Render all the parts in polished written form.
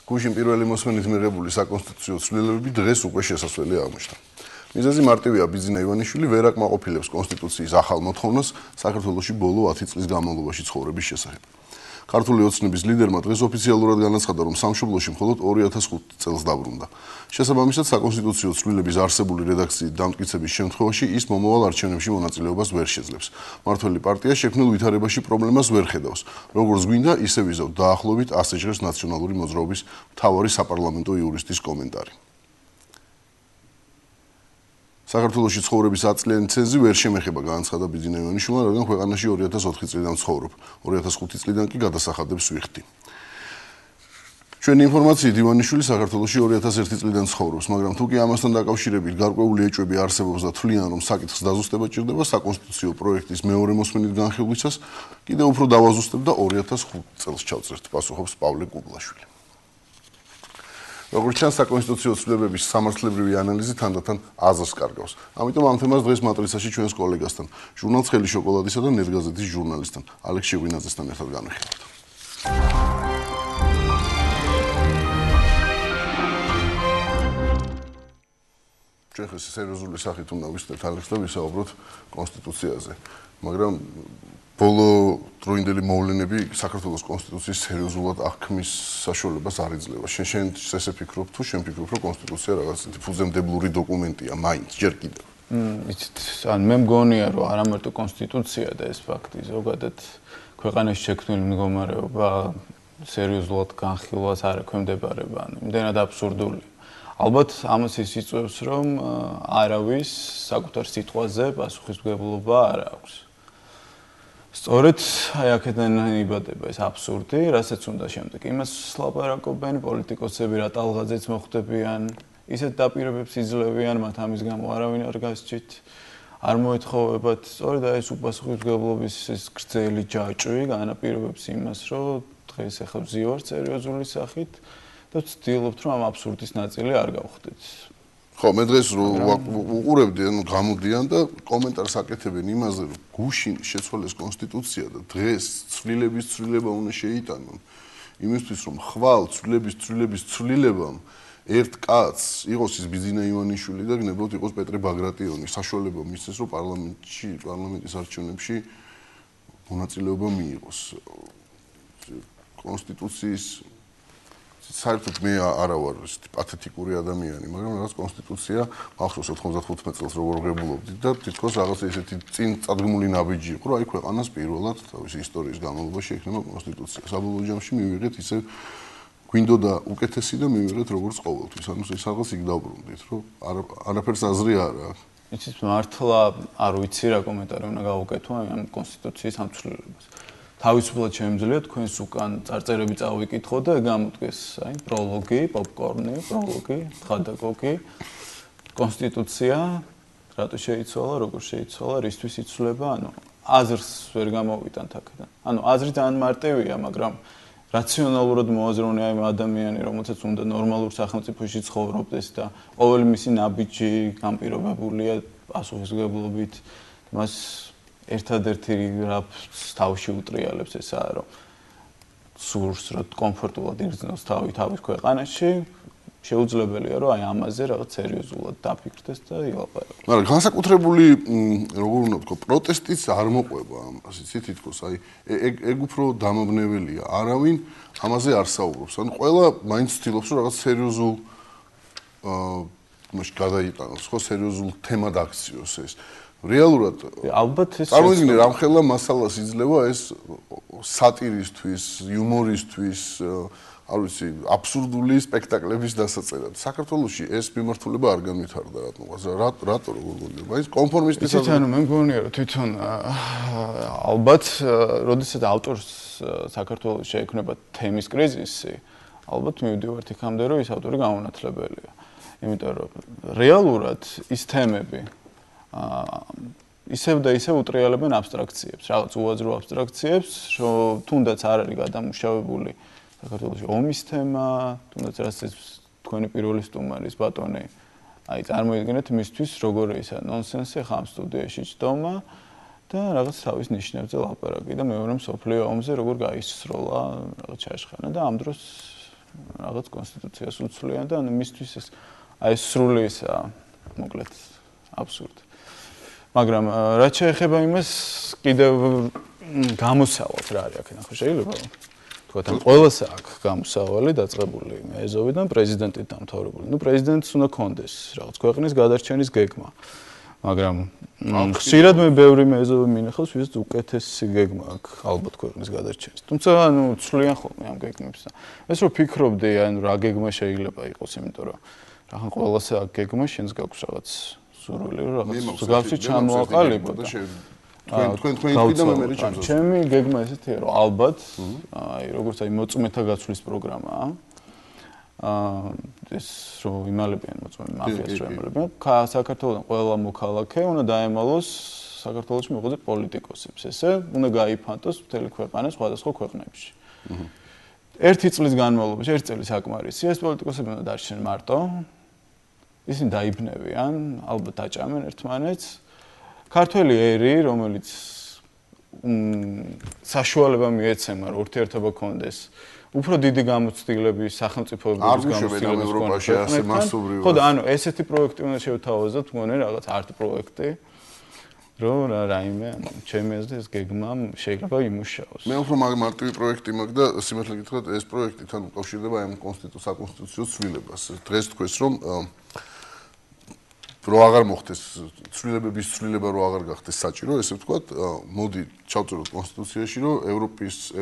გუშინ პირველი მოსმენით მიღებული საკონსტიტუციო ცვლილებები დღეს უკვე შესასვლელი აღმოჩნდა. მიზეზი მარტივია, ბიძინა ივანიშვილი ვერ აკმაყოფილებს კონსტიტუციის ახალ მოთხოვნას საქართველოში ბოლო 10 წლის განმავლობაში ცხოვრების შესახებ. ქართული ოცნების ლიდერმა დღეს ოფიციალურად განაცხადა, რომ სამშობლოში მხოლოდ 2005 წელს დაბრუნდა. შესაბამისად, საკონსტიტუციო ცვლილების არსებული რედაქციით დამტკიცების შემთხვევაში ის მომავალ არჩევნებში მონაწილეობას ვერ შეძლებს. მმართველი პარტია შექმნილ ვითარებაში პრობლემას ვერ ხედავს. როგორც გვინდა, ისე ვიზავთ დაახლოებით ასე ჟღერს ნაციონალური მოძრაობის მთავარი საპარლამენტო იურისტის კომენტარი. საქართველოში ცხოვრების 10 წლიანი ცენზი ვერ შემეხება, განაცხადა ბიძინა ივანიშვილმა, რადგან ქვეყანაში 2004 წლიდან ცხოვრობ. 2005 წლიდან კი გადასახადებს ვიხდი. ჩვენი ინფორმაციით ივანიშვილი საქართველოში 2001 წლიდან ცხოვრობს, მაგრამ თუ კი ამასთან დაკავშირებით გარკვეული ეჭვები არსებობს და თვლიან, რომ საკითხს დაზუსტება ჭირდება, საკონსტიტუციო პროექტის მეორე მოსმენით განხილვისას კიდევ უფრო დავაზუსტებ და 2005 წელს ჩავწერთ, პასუხობს პავლე კუბლაშვილი. როგორც ჩანს, საკონსტიტუციო ცვლილებების სამართლებრივი ანალიზი თანდათან აზრს კარგავს. ამიტომ ამ თემას დღეს მატრიცაში ჩვენს კოლეგასთან, ჟურნალ ცხელი შოკოლადისა და ნეტგაზეთის ჟურნალისტთან, ალექს შეგვინაძესთან ერთად განვიხილავთ. ჩვენ ხეს სერიოზული სახით უნდა ვისწრებთ ალექს და ვისაუბროთ კონსტიტუციაზე, მაგრამ ბოლო დროინდელი მოვლენები საქართველოს კონსტიტუციის სერიოზულად აღქმის საშუალებას არ იძლევა. შენ ესე ფიქრობ თუ შენ ფიქრობ, რომ კონსტიტუცია რაღაც ფუძემდებლური დოკუმენტია, მაინც ჯერ კიდევ? იცით, ან მე მგონია, რომ არა მარტო კონსტიტუცია და ეს ფაქტი, ზოგადად ქვეყანაში შექმნილი მდგომარეობა სერიოზულად განხილვას არ ექვემდებარება, იმდენად აბსურდულია. ალბათ ამას ის იწვევს, რომ არავის საკუთარ სიტყვაზე პასუხისმგებლობა არ აქვს. სწორედ აი აქედან იბადება ეს აბსურდი, რასაც უნდა შემდეგ იმას ლაპარაკობენ პოლიტიკოსები, რა ტალღაზეც მოხვდებიან, ისეთ დაპირებებს იძლევიან, მათ ამის გამო არავინ არ გასჭით, არ მოეთხოვებათ. სწორედ აი ეს უპასუხისმგებლობის ეს გრძელი ჯაჭვი განაპირობებს იმას, რომ დღეს ახლა ვზივართ სერიოზული სახით და ვცდილობთ, რომ ამ აბსურდის ნაწილი არ გავხდეთ. ხო, მე დღეს უყურებდი, ანუ გამოდიან და კომენტარს აკეთებენ იმაზე, რომ გუშინ შეცვალეს კონსტიტუცია და დღეს ცვლილების ცვლილება უნდა შეიტანონ. იმისთვის, რომ ხვალ ცვლილების ცვლილებამ ერთ კაცს იყოს ის ბიძინა ივანიშვილი და გნებოდ იყოს პეტრე ბაგრატიონი, საშუალება მისცეს, რომ პარლამენტის არჩევნებში მონაწილეობა მიიღოს. კონსტიტუციის საერთოდ მე არა ვარ პათეტიკური ადამიანი, მაგრამ რაღაც კონსტიტუცია ახსოვს 95 წელს როგორ ღებულობდი და თითქოს რაღაც ესეთი წინ წადგმული ნაბიჯი იყო, რომ აი ქვეყანას პირველად თავისი ისტორიის განმავლობაში ექნება კონსტიტუცია. საბოლოო ჯამში მივიღეთ ისე გვინდოდა უკეთესი და მივიღეთ როგორც ყოველთვის. ანუ ეს რაღაც იქ დავბრუნდით, რომ არაფერს აზრი არ აქვს. იცით, მართლა არ ვიცი რა კომენტარი უნდა გავუკეთო ამ კონსტიტუციის ამცვლელებას. თავისუფლად შემიძლია თქვენს უკან წარწერები წავიკითხო და გამოდგეს, აი, პროლოგი, პოპკორნი, პროლოგი, თხადაკოკი, კონსტიტუცია, რატო შეიცვალა, როგორ შეიცვალა, რისთვის იცვლება, ანუ აზრს ვერ გამოვიტანთ აქედან. ანუ აზრი ძალიან მარტივია, მაგრამ რაციონალურად მოაზროვნე აი ადამიანი, რომელსაც უნდა ნორმალურ სახელმწიფოში ცხოვრობდეს და ყოველი მისი ნაბიჯი განპირობებულია პასუხისმგებლობით, მას ერთადერთი რაც თავში უტრიალებს ესაა, რომ სურს რა კომფორტულად იგრძნოს თავის ქვეყანაში, შეუძლებელია, რომ აი ამაზე რაღაც სერიოზულად დაფიქრდეს და ილაპარაკოს. მაგრამ განსაკუთრებული, როგორ უნდა ვთქვა, პროტესტიც არ მოყვება ამას, იცით, თითქოს აი ეგ უფრო დამაბნეველია. არავინ ამაზე არ საუბრობს. ანუ ყველა მაინც ცდილობს, რომ რაღაც სერიოზულ მაშ გადაიტანოს, ხო, სერიოზულ თემად აქციოს ეს. რეალურად ალბათ ეს წარმოიდგინე რამხელა მასალას იძლევა ეს სატირისთვის, იუმორისთვის, არ ვიცი, აბსურდული სპექტაკლების დასაწერად. საქართველოში ეს მიმართულება არ განვითარდა რატომღაც. რატო როგორ გონდება? ის კონფორმისტის იცით, ანუ მე მგონია, რომ თვითონ ალბათ, როდესაც ავტორს საქართველოს შეექმნება თემის კრიზისი, ალბათ მივდივართ იქამდე, რომ ის ავტორი გამონათლებელია. იმიტომ რომ რეალურად ის თემები ისევ და ისევ უტრიალებენ აბსტრაქციებს, რაღაც უაზრო აბსტრაქციებს, რომ თუნდაც არ არის გადამუშავებული საქართველოში ომის თემა, თუნდაც რასაც თქვენი პირველი სტუმარის ბატონი, აი წარმოიდგინეთ მისთვის როგორ ისა ნონსენსი ხამ სტუდიაში ჯდომა და რაღაც თავის ნიშნებზე ლაპარაკი და მეორე მსოფლიო ომზე როგორ გაისროლა რაღაც ჩაშხანა და ამ დროს რაღაც კონსტიტუციას უცვლიან და ანუ მისთვის ეს აი სრული ისა მოკლედ აბსურდი. მაგრამ რაც შეეხება იმას კიდევ გამოსავალს რა არის აქ ნახო შეიძლება თქვათ ამ ყველას აქვს გამოსავალი დაწყებული ეზოვიდან პრეზიდენტით დამთავრებული. ნუ პრეზიდენტს უნდა კონდეს რაღაც ქვეყნის გადარჩენის გეგმა. მაგრამ ხშირად მე ბევრი მეზობი მინახავს, ვისაც უკეთესი გეგმა აქვს ალბათ ქვეყნის გადარჩენის. თუმცა ანუ ცვლიან ხოლმე ამ გეგმებს და ეს რო ფიქრობდი, ანუ რა გეგმა შეიძლება იყოს, იმიტომ რომ რახან ყველას აქვს გეგმა, შენს გაქვს რაღაც სურვილი, რაღაც მსგავსი ჩამოაყალიბო და თქვენ კიდე მე მეჩემს. ჩემი გეგმა ესეთია, რომ ალბათ აი როგორც აი მოწმეთა გაცვლის პროგრამაა. ეს რო იმალებიან მოწმე მაფიას რო იმალებიან საქართველოს ყველა მოქალაქე უნდა დაემალოს საქართველოში მოღვაწე პოლიტიკოსებს ესე უნდა გაიფანტოს მთელი ქვეყანა სხვადასხვა ქვეყნებში ერთი წლის განმავლობაში ერთი წელი საკმარისია ეს პოლიტიკოსები უნდა დარჩნენ მარტო ისინი დაიბნევიან ალბათ დაჭამენ ერთმანეთს ქართველი ერი რომელიც საშუალება მიეცემა რომ ურთიერთობა კონდეს უფრო დიდი გამოცდილების სახელმწიფოების გამოცდილების ევროპაში ასე მასობრივად. ხო და ანუ ესეთი პროექტი უნდა შევთავაზოთ, მგონი რაღაც არტ პროექტი, რომ რაიმე, ჩემი აზრით ეს გეგმა შეიძლება იმუშაოს. მე უფრო მარტივი პროექტი მაქვს და სიმართლე გითხრათ, ეს პროექტი თან უკავშირდება ამ საკონსტიტუციო ცვლილებას. დღეს თქვეს რომ რო აღარ მოხდეს ცვლილებების ცვლილება რო აღარ გახდეს საჭირო, ესე ვთქვათ, მოდი ჩავწეროთ კონსტიტუციაში, რომ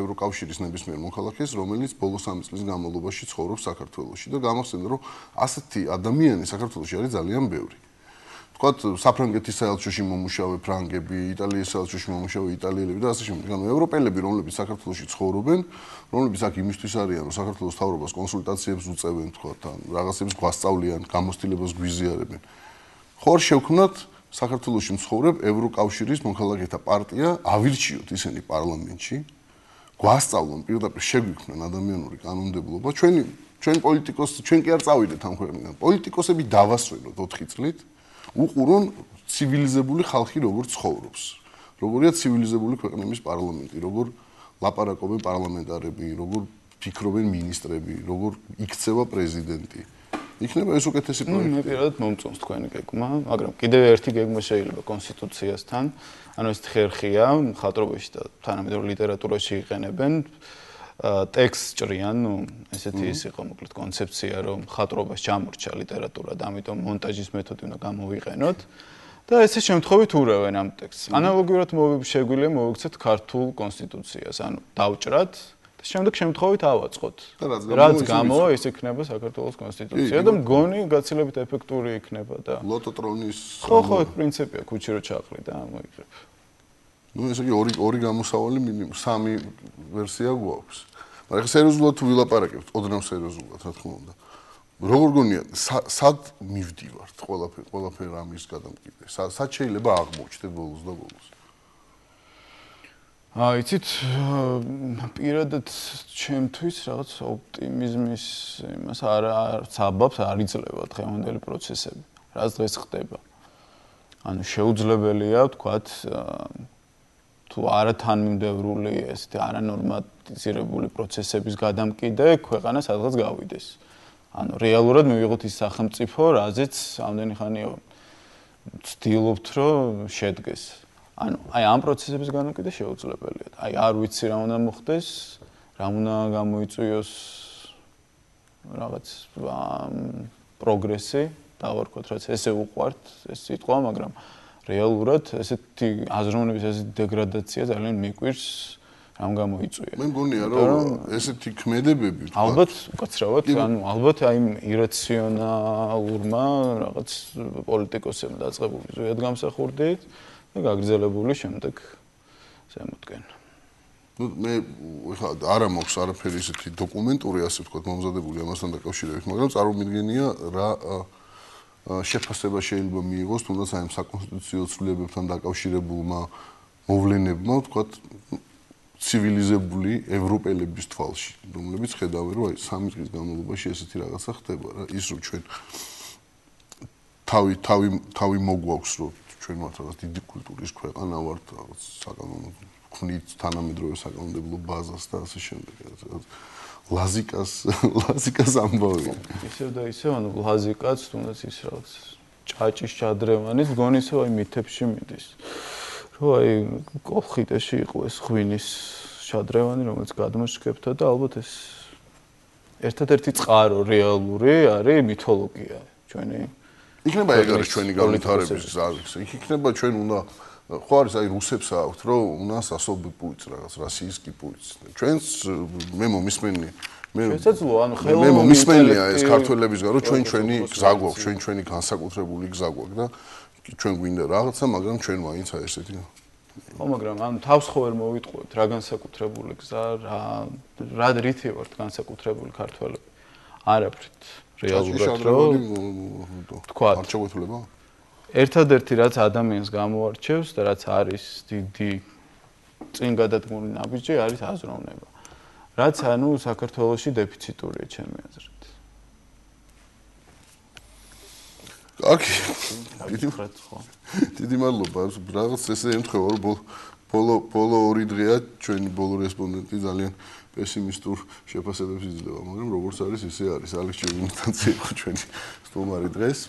ევროკავშირის ნებისმიერ მოქალაქეს, რომელიც ბოლო 3 წლის განმავლობაში ცხოვრობს საქართველოში და გამახსენდა, რომ ასეთი ადამიანი საქართველოში არის ძალიან ბევრი. ვთქვათ, საფრანგეთის საელჩოში მომუშავე ფრანგები, იტალიის საელჩოში მომუშავე იტალიელები და ასე შემდეგ. ანუ ევროპელები, რომლებიც საქართველოში ცხოვრობენ, რომლებიც აქ იმისთვის არიან, რომ საქართველოს მთავრობას კონსულტაციებს უწევენ, ვთქვათ, ან რაღაცებს გვასწავლიან, გამოცდილებას გვიზიარებენ. ხوار შევქმნათ საქართველოში მცხოვრებ ევროკავშირის მოქალაქეთა პარტია, ავირჩიოთ ისინი პარლამენტში, გვასწავლონ პირდაპირ შეგვიქმნან ადამიანური კანონმდებლობა, ჩვენ პოლიტიკოსი, ჩვენ კი არ წავიდეთ ამ ქვეყნიდან. პოლიტიკოსები დავასვენოთ 4 წლით, უყურონ ცივილიზებული ხალხი როგორ ცხოვრობს. როგორია ცივილიზებული ქვეყნების პარლამენტი, როგორ ლაპარაკობენ პარლამენტარები, როგორ ფიქრობენ მინისტრები, როგორ იქცევა პრეზიდენტი. იქნება ეს უკეთესი პროექტი. მე პირადად მომწონს თქვენი გეგმა, მაგრამ კიდევ ერთი გეგმა შეიძლება კონსტიტუციასთან. ანუ ეს ხერხია, მხატვრობაში და თანამედროვე ლიტერატურაში იყენებენ. ტექსტს ჭრიან, ნუ ესეთი ის იყო მოკლედ კონცეფცია, რომ მხატვრობას ჩამორჩა ლიტერატურა და ამიტომ მონტაჟის მეთოდი უნდა გამოვიყენოთ. და ესე შემთხვევით ურევენ ამ ტექსტს. ანალოგიურად შეგვიძლია მოვიქცეთ ქართულ კონსტიტუციას, ანუ დავჭრათ შემდეგ შემთხვევით ავაწყოთ. რაც გამოვა, ის იქნება საქართველოს კონსტიტუცია და მგონი გაცილებით ეფექტური იქნება და ლოტოტრონის ხო, ეს პრინციპია, ქუჩი რო ჩაყრი და მოიგრებ. ნუ ესე იგი ორი გამოსავალი მინიმუმ 3 ვერსია გვაქვს. მაგრამ სერიოზულად თუ ვილაპარაკებთ, ოდნავ სერიოზულად, რა თქმა უნდა. როგორ გონია, სად მივდივართ ყველაფერ ამის გადამკიდე? სად შეიძლება აღმოჩნდეთ ბოლოს და ბოლოს? იცით, პირადად ჩემთვის რაღაც ოპტიმიზმის იმას არც აბაბს არ იძლევა დღევანდელი პროცესები. რაც დღეს ხდება. ანუ შეუძლებელია, ვთქვათ, თუ არა თანმიმდევრული ესეთი არანორმატიზირებული პროცესების გადამკიდე ქვეყანა სადღაც გავიდეს. ანუ რეალურად მივიღოთ ის სახელმწიფო, რაზეც ამდენი ხანია ვცდილობთ, რომ შედგეს. ანუ აი ამ პროცესების განმკვიდრება შეუძლებელია. აი არ ვიცი რა უნდა მოხდეს, რა უნდა გამოიწვიოს რაღაც პროგრესი, დავარქვათ, რაც ესე უყვართ ეს სიტყვა, მაგრამ რეალურად ესეთი აზროვნების ესეთი დეგრადაცია ძალიან მიკვირს რამ გამოიწვია. მე მგონია რომ ესეთი ქმედებები ალბათ უკაცრავად, ანუ ალბათ აი ირაციონალურმა რაღაც პოლიტიკოსებმა დაწყებული ზუსტად გამსახურდით და გაგრძელებული შემდეგ ზემოთკენ. ნუ მე ხა არა მაქვს არაფერი ისეთი დოკუმენტური ასე ვთქვათ მომზადებული ამასთან დაკავშირებით, მაგრამ წარმომიდგენია რა შეფასება შეიძლება მიიღოს თუნდაც აი ამ საკონსტიტუციო ცვლილებებთან დაკავშირებულმა მოვლენებმა, ვთქვათ, ცივილიზებული ევროპელების თვალში, რომლებიც ხედავენ, რომ აი 3 წლის განმავლობაში ესეთი რაღაცა ხდება რა, ის რომ ჩვენ თავი მოგვაქვს, რომ ჩვენ ვართ რაღაც დიდი კულტურის ქვეყანა ვართ, რაღაც საკანონმდებლო ქმნით თანამედროვე საკანონმდებლო ბაზას და ასე შემდეგ. ლაზიკას ამბავი. ისევ და ისევ, ანუ ლაზიკაც თუნდაც ის რაღაც ჭაჭის ჩადრევანის გონი ისევ აი მითებში მიდის. რომ აი კოლხიტეში იყო ეს ღვინის ჩადრევანი, რომელიც გადმოშკებთა და ალბათ ეს ერთადერთი წყარო რეალური არის მითოლოგია ჩვენი. იქნება ეგ არის ჩვენი განვითარების გზა. იქნება ჩვენ უნდა ხო არის აი რუსებს აქვთ რომ უნას ასობი პუიც რაღაც რასიისკი პუიც. ჩვენს მე მომისმენი შესაძლოა ანუ მე მომისმენია ეს ქართველებისგან რომ ჩვენი გზა გვაქვს, ჩვენი განსაკუთრებული გზა გვაქვს და ჩვენ გვინდა რაღაცა, მაგრამ ჩვენ მაინც აი ესეთი ხო, მაგრამ ანუ თავს ხო ვერ მოვიტყუებთ რა განსაკუთრებული გზა, რა რითი ვართ განსაკუთრებული ქართველები. არაფრით რეალურად რომ თქვა არ ჩაგვეთვლება? ერთადერთი რაც ადამიანს გამოარჩევს და რაც არის დიდი წინ გადადგმული ნაბიჯი არის აზროვნება. რაც ანუ საქართველოში დეფიციტურია ჩემი აზრით. კარგი. დიდი მადლობა. რაღაც ესე ემთხვევა რომ ბოლო 2 დღეა ჩვენი ბოლო რესპონდენტი ძალიან პესიმისტურ შეფასებებს იძლევა, მაგრამ როგორც არის ისე არის. ალექს ჩერვინთან იყო ჩვენი სტუმარი დღეს.